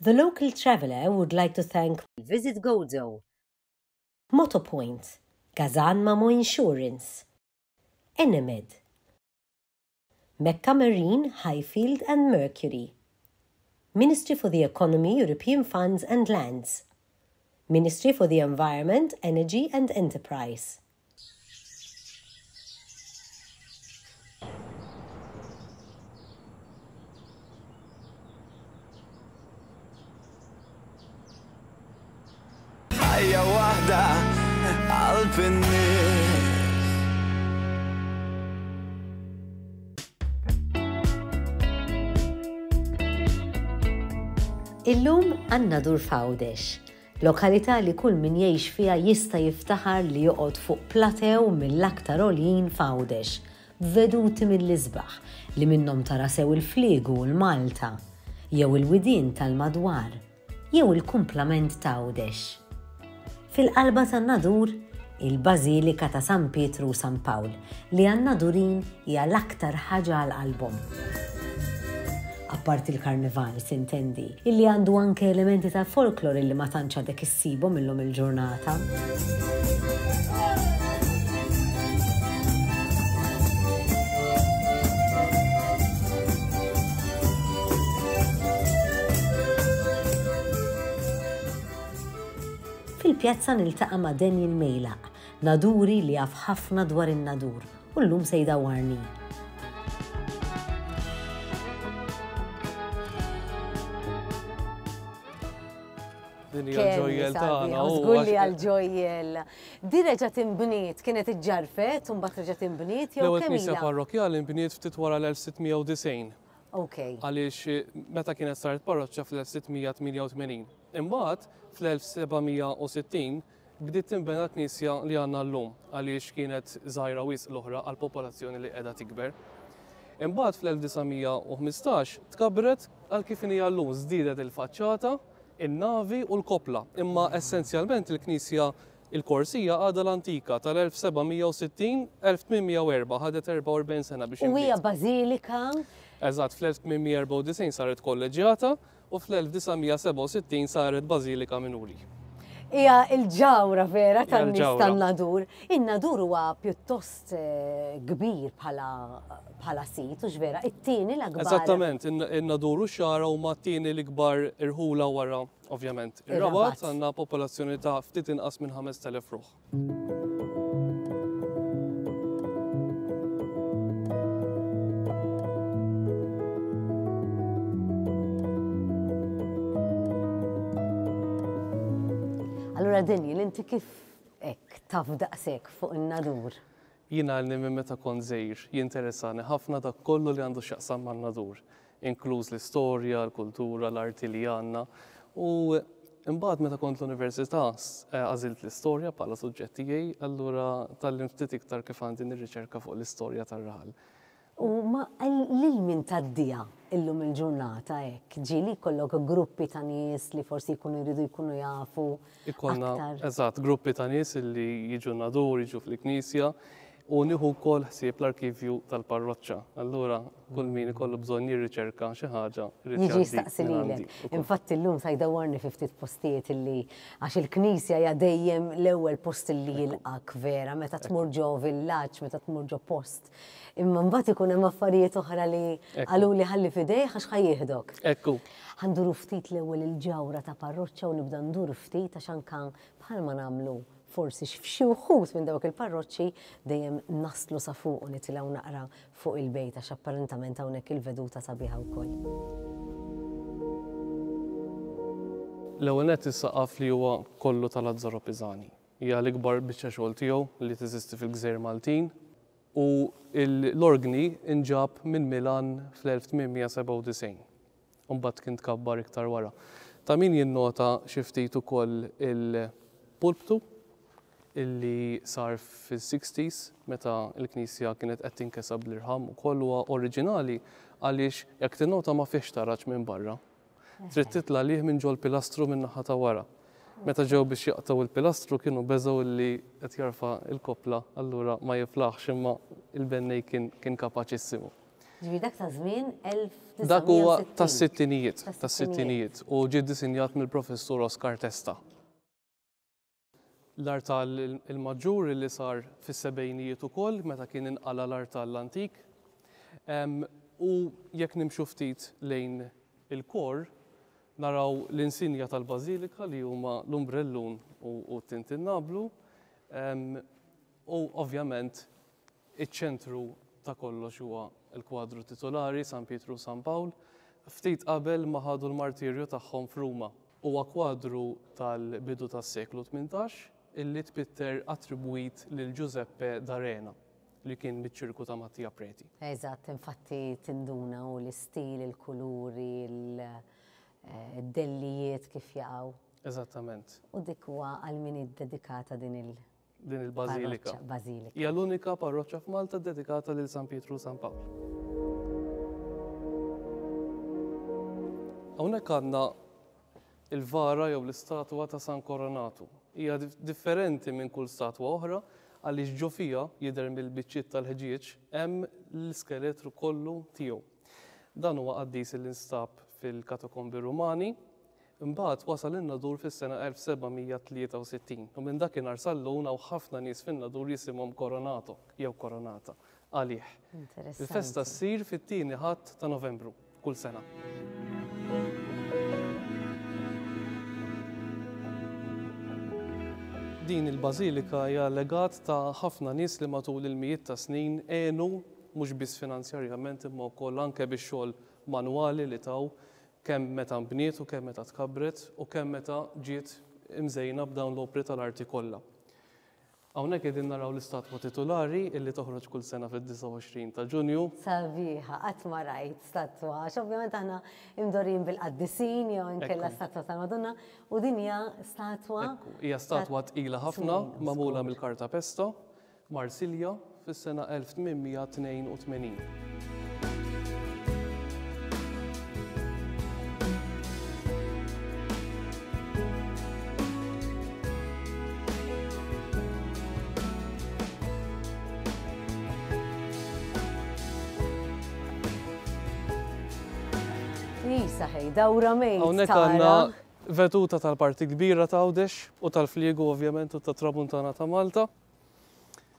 The local traveller would like to thank Visit Gozo, Motopoint, Gazan Mamo Insurance, Enemed, Mecca Marine, Highfield and Mercury, Ministry for the Economy, European Funds and Lands, Ministry for the Environment, Energy and Enterprise. Ħajja waħda qalb in-nies. Illum għandna dur f'Għawdex, lokalità li kull min jgħix fiha jista' jiftaħar li joqgħod fuq platew mill-aktar għoljin f'Għawdex, b'veduti mill-isbaħ li minnhom tara sew il-fliegu u l-Malta, jew il-widien tal-madwar. jew il-kumplament t'Għawdex. Fil-qalba tan-Nadur, il-Bażilika ta' San Pietru u San Pawl, li għan-Nadurin hija l-aktar ħaġa għal qalbhom. Apparti l-Karnival, sintendi, illi għandu anke elementi tal-folklor illi ma tantx għadek issibhom illum il-ġurnata. Fil-pjazza niltaqa' ma' Daniel Mejlaq, Naduri li jaf ħafna dwar in-Nadur u llum se jdawwarni. Din hija l-ġojjel tagħna. Żgur li għall-ġojjel. Din reġgħet inbniet, kienet iġġarfet u mbagħad reġgħet inbniet jew kemm ilha? L-ewwel knisja parrokkjali nbniet ftit wara l-1690. Ok. Għaliex meta kienet saret parroċċa fl-1688. Imbagħad fl-1760 bdiet tinbena l-knisja li għandna llum għaliex kienet żgħira wisq l-oħra għall-popolazzjoni li qiegħda tikber. Imbagħad fl-1915 tkabbret għal kif inhi llum, żdiedet il-faċċata, in-navi u l-koppla. Imma essenzjalment il-knisja il-korsija għadha l-antika tal-1760, 1804, ħadet 44 sena biex U hija inbniet. bażilika? Eżatt, fl-1894 saret kolleġġjata u fl-1967 saret bażilika minuri. Hija l-ġawra vera Hija tan-nies l-ġawra. tan-Nadur. In-Nadur huwa pjuttost kbir bħala bħala sit, hux vera? It-tieni l-akbar. Eżattament, in-Nadur u x-Xagħra huma t-tieni l-ikbar irħula wara, ovvjament, ir-Rabat. Għandna popolazzjoni ta' ftit inqas minn 5,000 ruħ. Allura Daniel, inti kif hekk taf daqshekk fuq in-Nadur? Jien għalni minn meta kont żgħir jinteressani ħafna dak kollu li għandu x'jaqsam man-Nadur, inkluż l-istorja, l-kultura, l-arti li għandna. U imbagħad meta kont l-università għażilt l-istorja bħala suġġett tiegħi, allura tgħallimt ftit iktar kif għandi nirriċerka fuq l-istorja tar-raħal. U ma lil min tgħaddiha illum il-ġurnata hekk? Ġieli jkollok gruppi ta' nies li forsi jkunu jridu jkunu jafu Ikollna, eżatt, gruppi ta' nies li jiġu n-Nadur, jiġu fil-knisja u nieħu wkoll ħsieb l-arkivju tal-parroċċa. Allura kull min ikollu bżonn jirriċerka xi ħaġa jrid Jiġi jistaqsi lilek. Infatti llum sa jdawwarni fi ftit postijiet illi għax il-knisja hija dejjem l-ewwel post illi jilqgħek vera meta tmur ġo villaġġ, meta tmur ġo post. Imma mbagħad ikun hemm affarijiet oħra li qaluli ħalli f'idejh għax ħa jieħdok. Ekku. Ħa nduru ftit l-ewwel il-ġawhra ta' parroċċa u nibda ndur ftit għax anke bħalma nagħmlu forsi f'xi wħud minn dawk il-parroċċi dejjem naslu sa fuq u nitilgħu naqra fuq il-bejt għax apparentament hawnhekk il-veduta sabiħa wkoll. L-ewwel nett is-saqaf li huwa kollu ta' Lazzaro Pisani. Hija l-ikbar biċċa xogħol tiegħu li teżisti fil-gżejjer Maltin u l-orgni nġab minn Milan fl-1897. u mbagħad kien tkabbar iktar wara. Ta' min jinnota xi ftit ukoll il-pulptu illi sar fis-sixties meta l-knisja kienet qed tinkesa bl-irħam ukoll huwa oriġinali għaliex jekk tinnota ma fihx taraġ minn barra. Trid titla' għalih minn ġol-pilastru min-naħa ta' wara. Meta ġew biex jaqtgħu l-pilastru kienu beżgħu illi qed jarfa' l-koppla allura ma jiflaħx imma l-bennej kien kapaċissimu. Ġifieri dak ta' żmien 1960. Dak huwa tas-sittinijiet, tas-sittinijiet u ġie ddisinjat mill-Professur Oscar Testa. L-artal il-maġġur li sar fis-sebgħinijiet ukoll meta kien inqala' l-artal l-antik. U jekk nimxu ftit lejn il-kor, naraw l-insinja tal-bażilika li huma l-umbrellun u t-tintinnablu. U ovvjament iċ-ċentru ta' kollox huwa l-kwadru titulari San Pietru u San Pawl, ftit qabel ma ħadu l-martirju tagħhom f'Ruma. Huwa kwadru tal-bidu tas-seklu 18 illi tpitter attribwit lil Giuseppe D'Arena li kien miċ-ċirku ta' Mattia Preti. Eżatt, infatti tinduna hu l-istil, il-kuluri, il-dellijiet kif jaqgħu. Eżattament. U dik huwa għal min hi ddedikata din il- Din il-bażilika. Bażilika. Hija l-unika parroċċa f'Malta ddedikata lil San Pietru u San Pawl. Hawnhekk għandna il-vara jew l-istatwa ta' San Koronatu. Hija differenti minn kull statwa oħra għaliex ġo fiha, jidher mill-biċċiet tal-ħġieġ, hemm l-iskeletru kollu tiegħu. Dan huwa qaddis li nstab fil-katakombi Rumani, imbagħad wasal in-Nadur fis-sena 1763 u minn dakinhar sal-lum hawn ħafna nies fin-Nadur jisimhom Coronato jew Coronata għalih. Il-festa ssir fit-tieni Ħadd ta' Novembru kull sena. Din il-bażilika hija legat ta' ħafna nies li matul il-mijiet ta' snin għenu mhux biss finanzjarjament imma wkoll anke bix-xogħol manwali li taw kemm meta nbniet u kemm meta tkabbret u kemm meta ġiet imżejna b'dawn l-opri tal-arti kollha. Hawnhekk qegħdin naraw l-istatwa titulari illi toħroġ kull sena fid-29 ta' Ġunju. Sabiħa, qatt ma rajt statwa, għax ovvjament aħna imdorrijin bil-qaddisin jew inkella statwa tal-Madonna, u din hija statwa. Ekku, hija statwa tqila ħafna, magħmula mill-kartapesta. Marsilja fis-sena 1882. Isa ħej, dawra mejt. Hawnhekk għandna veduta tal-parti kbira ta' Għawdex u tal-Fliegu ovvjament u tat-Tramuntana ta' Malta.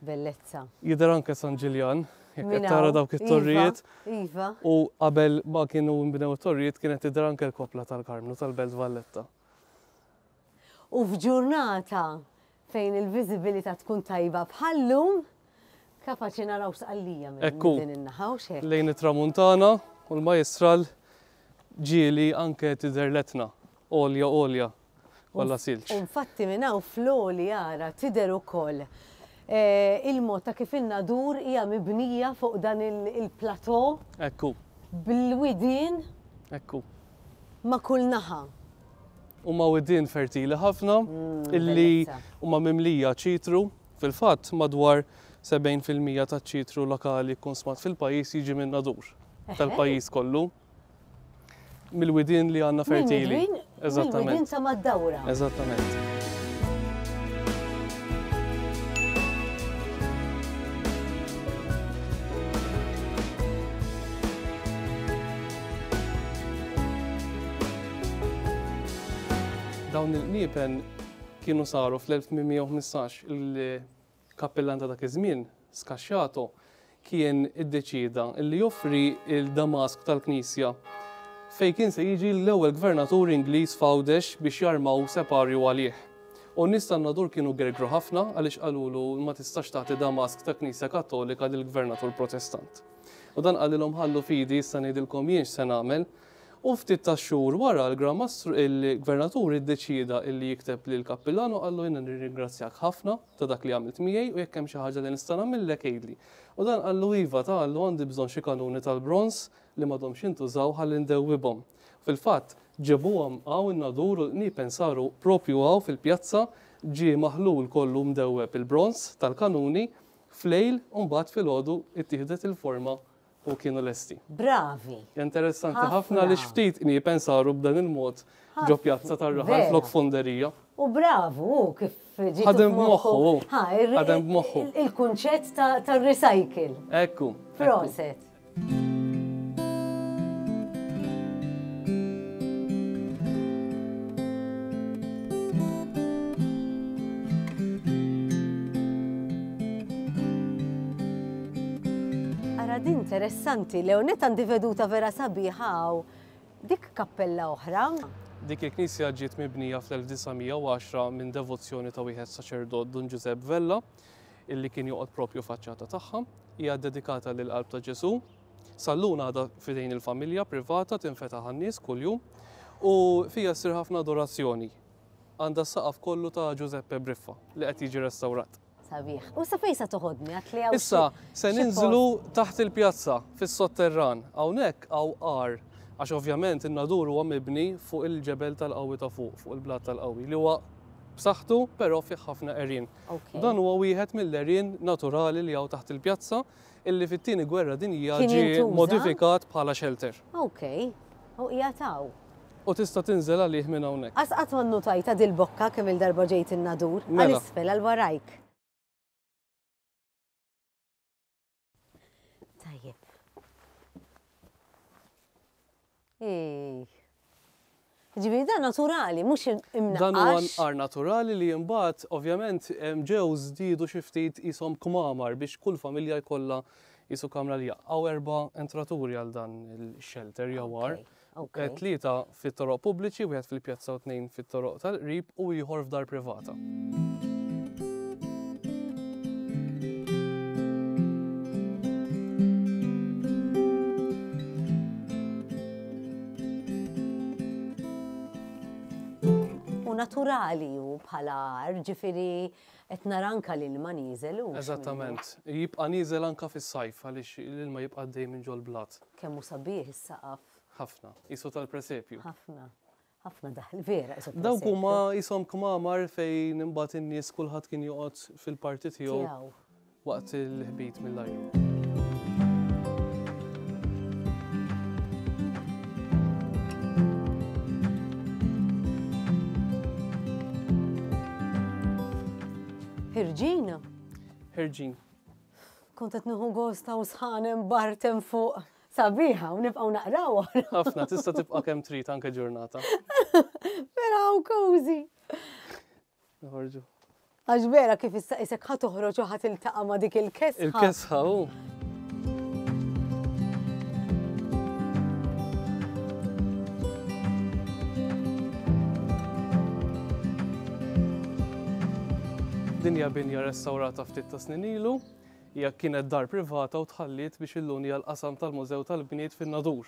Bellezza. Jidher anke San Ġiljan, jekk qed tara dawk it-torrijiet. Iva, iva. U qabel ma kienu nbnew it-torrijiet kienet tidher anke l-koppla tal-Karmnu tal-Belt Valletta. U f'ġurnata fejn il-viżibilità tkun tajba bħal-lum, kapaċi naraw Sqallija minn din in-naħa u x'hekk. Lejn it-Tramuntana u l-Majjistral ġieli anke tidher l-Etna, għolja għolja. kollha silġ. U infatti minn hawn fl-għoli ara tidher ukoll il-mod ta' kif in-Nadur hija mibnija fuq dan il-plateau. Ekku. Bil-widien. Ekku. Ma' kull naħa. Huma widien fertili ħafna illi huma mimlija ċitru. Fil-fatt madwar 70% taċ-ċitru lokali kkonsmat fil-pajjiż jiġi min-Nadur tal-pajjiż kollu. Mill-widien li għandna fertili. Eżattament. Mill-widien ta' mad-dawra. Eżattament. Dawn il-qniepen kienu saru fl-1815 Il-kappillan ta' dak iż-żmien, Scasciato, kien iddeċieda li joffri l-damask tal-knisja fejn kien se jiġi l-ewwel gvernatur Ingliż f'Għawdex biex jarmaw separju għalih. U n-nies tan-Nadur kienu gergru ħafna għaliex qalulu ma tistax tagħti damask ta' knisja Kattolika lil gvernatur Protestant. U dan qalilhom ħallu f'idi issa ngħidilkom jien x'se nagħmel. U ftit tax-xhur wara l-Gran Mastru, il-Gvernatur iddeċieda illi jikteb lill-Kappillan u qallu jiena nirringrazzjak ħafna ta' dak li għamilt miegħi u jekk hemm xi ħaġa li nista' nagħmillek għidli. U dan qallu iva ta qallu għandi bżonn xi kanuni tal-bronż li m'għadhomx jintużaw ħalli ndewwibhom. Fil-fatt, ġebuhom hawn in-Nadur u l-qniepen saru propju hawn fil-pjazza, ġie maħlul kollu mdewweb il-bronż tal-kanuni flejl u mbagħad filgħodu ittieħdet il-forma u kienu lesti. Bravi! Interessanti ħafna li ftit qniepen saru b'dan il-mod ġo pjazza tar-raħal flok fonderija. U bravu, hu kif ġie. Ħadem b'moħħu. Ħadem b'moħħu. Il-kunċett tar-recycle. Ekku. Proset. Din interessanti, Leonet għandi veduta vera sabiħa hawn. Dik kappella oħra. Dik il-knisja ġiet mibnija fl-1910 minn devozzjoni ta' wieħed saċerdot Dun Ġużepp Vella, illi kien joqgħod propju faċċata tagħha. Hija ddedikata lill-Qalb ta' Ġesù. Sal-lum għadha f'idejn il-familja privata tinfetaħ għan-nies kuljum u fiha ssir ħafna adorazzjoni. Għandha s-saqaf kollu ta' Giuseppe Briffa li qed jiġi restawrat. Sabiħ. U sa fejn sa toħodni? Għat li hawn Issa se ninżlu taħt il-pjazza fis-sotterran. Hawnhekk hawn għar għax ovvjament in-Nadur huwa mibni fuq il-ġebel tal-qawwi ta' fuq, fuq il-blat tal-qawwi li huwa b'saħħtu però fih ħafna għerien. Dan huwa wieħed mill-għerien naturali li hawn taħt il-pjazza illi fit-tieni gwerra dinjija ġie modifikat bħala shelter. Ok, u qiegħed hawn. U tista' tinżel għalih minn hawnhekk. Qas qatt ma nnutajtha dil-bokka kemm-il darba ġejt in-Nadur, għal isfel, għal warajk. Tajjeb. Ej. Ġifieri dan naturali, mhux imnaqqax. Dan huwa nqar naturali li imbagħad ovvjament ġew żdiedu xi ftit qishom kmamar biex kull familja jkollha qisu kamra li hawn erba' entraturi għal dan il-shelter jew għar. Tlieta fit-toroq pubbliċi, wieħed fil-pjazza u tnejn fit-toroq tal-qrib u ieħor f'dar privata. U naturali hu bħala għar, ġifieri qed nara anka l-ilma nieżel hux. Eżattament. Jibqa' nieżel anka fis-sajf għaliex l-ilma jibqa' għaddej minn ġol-blat. Kemm hu sabiħ is-saqaf. Ħafna. Qisu tal-presepju. Ħafna. Ħafna daħl, vera, qisu presepju. Dawk huma qishom kmamar fejn imbagħad in-nies kulħadd kien joqgħod fil-parti tiegħu. Tiegħu. Waqt il-ħbit mill-ajru. Ħirġin? Ħirġin. Kont qed nieħu gost hawn sħan hemm bart hemm fuq. Sabiħa u nibqgħu naqraw. Ħafna, tista' tibqa' kemm trid anke ġurnata. Vera hawn cozy. Noħorġu. Għax vera kif issa isek ħa toħroġ u ħa tiltaqa' ma' dik il-kesħa. Il-kesħa u. Din hija binja restawrata ftit ta' snin ilu. Hija kienet dar privata u tħalliet biex illum hija l-qasam tal-Mużew tal-Bniet fin-Nadur.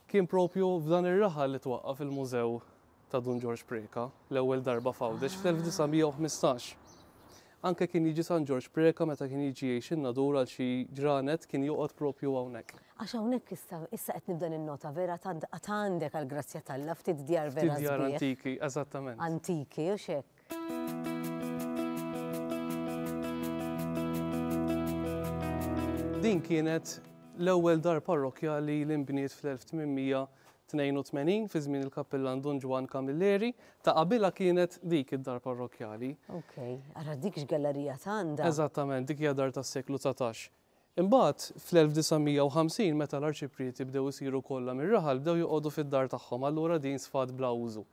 Kien propju f'dan ir-raħal li twaqqaf il-Mużew ta' Dun Ġorġ Preca l-ewwel darba f'Għawdex fl-1915. Anke kien jiġi San Ġorġ Preca meta kien jiġi jgħix in-Nadur għal xi ġranet kien joqgħod propju hawnhekk. Għax hawnhekk issa issa qed nibda ninnota vera tant għad għandek għall-grazzja t'Alla ftit djar vera Ftit djar sbieħ. antiki, eżattament. Antiki, hux hekk? Din kienet l-ewwel dar parrokkjali li nbniet fl-1882 fi żmien il-kappillan Dun Ġwann Camilleri. Ta' qabilha kienet dik id-dar parrokkjali. Ok, ara dik x'gallerija t'għandha. Eżattament, dik hija dar tas-seklu 19. Imbagħad, fl-1950, meta l-arċiprieti bdew isiru kollha mir-raħal, bdew joqogħdu fid-dar tagħhom, allura din sfat bla użu.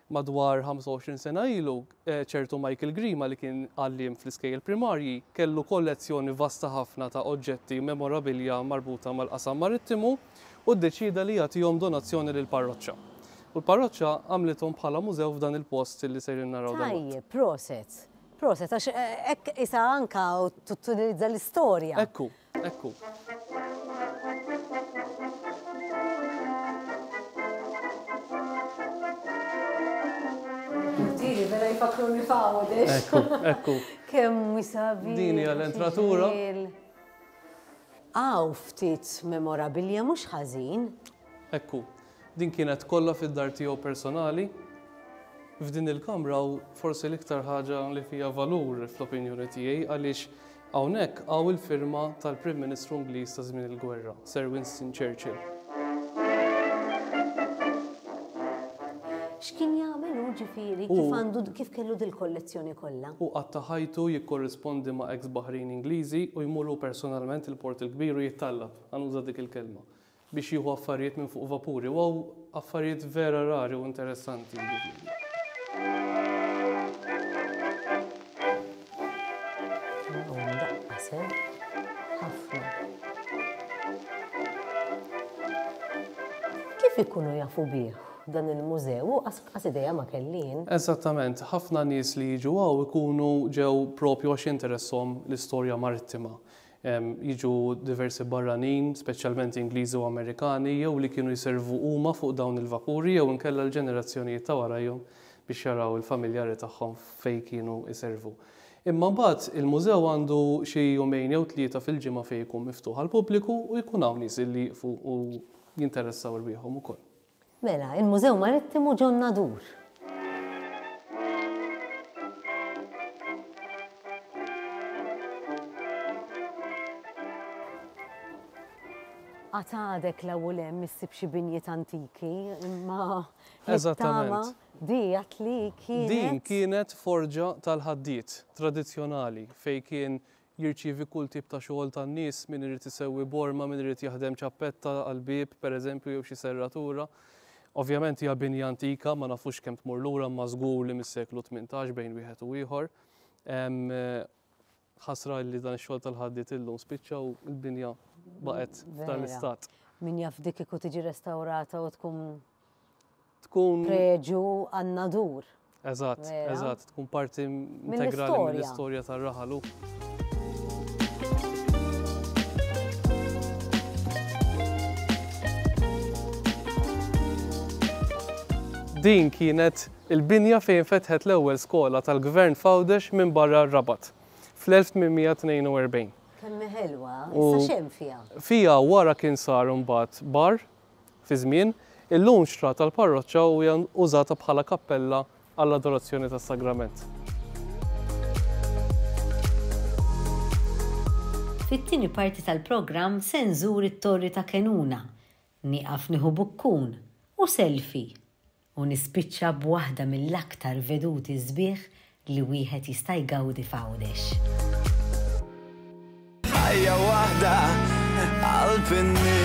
Madwar 25 sena ilu, ċertu Michael Grima li kien għalliem fl-iskejjel primarji, kellu kollezzjoni vasta ħafna ta' oġġetti u memorabilja marbuta mal-qasam marittimu u ddeċieda li jagħtihom donazzjoni lill-parroċċa. U l-parroċċa għamlithom bħala mużew f'dan il-post li sejrin naraw dalwaqt. Tajjeb, proset. Proset, għax hekk isa anka tutilizza l-istorja. Ekku, ekku. Tiri, vera jfakruni f'Għawdex. Ekku, ekku. Kemm sabiħ. Din hija l-entratura. Hawn ftit memorabilja mhux ħażin. Ekku. Din kienet kollha fid-dar tiegħu personali. F'din il-kamra hawn forsi l-iktar ħaġa li fiha valur fl-opinjoni tiegħi għaliex hawnhekk hawn il-firma tal-Prim Ministru Ingliż ta' żmien il-gwerra, Sir Winston Churchill. X'kien jagħmel hu ġifieri? Kif għandu kif kellu dil-kollezzjoni kollha? Hu qatta' ħajtu jikkorrispondi ma' eks baħrin Ingliżi u jmur hu personalment il-Port il-Kbir u jittallab, ħa nuża dik il-kelma. biex jieħu affarijiet minn fuq vapuri u hawn affarijiet vera rari u interessanti jiġifieri. Ħafna. Kif ikunu jafu bih dan il-mużew? U qas idea ma kelli jien. Eżattament, ħafna nies li jiġu hawn ikunu ġew propju għax jinteresshom l-istorja marittima. Jiġu diversi barranin, speċjalment Ingliżi u Amerikani, jew li kienu jservu huma fuq dawn il-vapuri jew inkella l-ġenerazzjonijiet ta' warajhom biex jaraw il-familjari tagħhom fejn kienu jservu. Imma mbagħad il-mużew għandu xi jumejn jew tlieta fil-ġimgħa fejn ikun miftuħ għall-pubbliku u jkun hawn nies li jieqfu u jinteressaw rwieħhom ukoll. Mela, il-Mużew Marittimu ġo Nadur. Għad għadek 'l hawn u 'l hemm issib xi binjiet antiki, imma nittama di għad li kienet. Din kienet forġa tal-ħaddied tradizzjonali fejn kien jirċievi kull tip ta' xogħol tan-nies, min irid isewwi borma, min irid jaħdem ċappetta għall-bieb, pereżempju, jew xi serratura. Ovvjament hija binja antika, ma nafux kemm tmur lura imma żgur li mis-seklu 18 bejn wieħed u ieħor. Ħasra li dan ix-xogħol tal-ħaddied illum spiċċa u l-binja baqgħet f'dan l-istat. Min jaf dik kieku tiġi restawrata u tkun tkun preġu għan-nadur. Eżatt, eżatt, tkun parti integrali mill-istorja tar-raħal. Din kienet il-binja fejn fetħet l-ewwel skola tal-Gvern f'Għawdex minn barra r-Rabat fl-1842. Kemm hi ħelwa, issa x'hemm fiha? Fiha wara kien sar imbagħad bar Fi żmien, illum xtratha l-parroċċa u hija użata bħala kappella għall-adorazzjoni tas-Sagrament. Fit-tieni parti tal-programm se nżur it-Torri ta' Kenuna, nieqaf nieħu bukkun u selfie u nispiċċa b'waħda mill-aktar veduti sbieħ li wieħed jista' jgawdi f'Għawdex. Ħajja waħda qalb in-nies.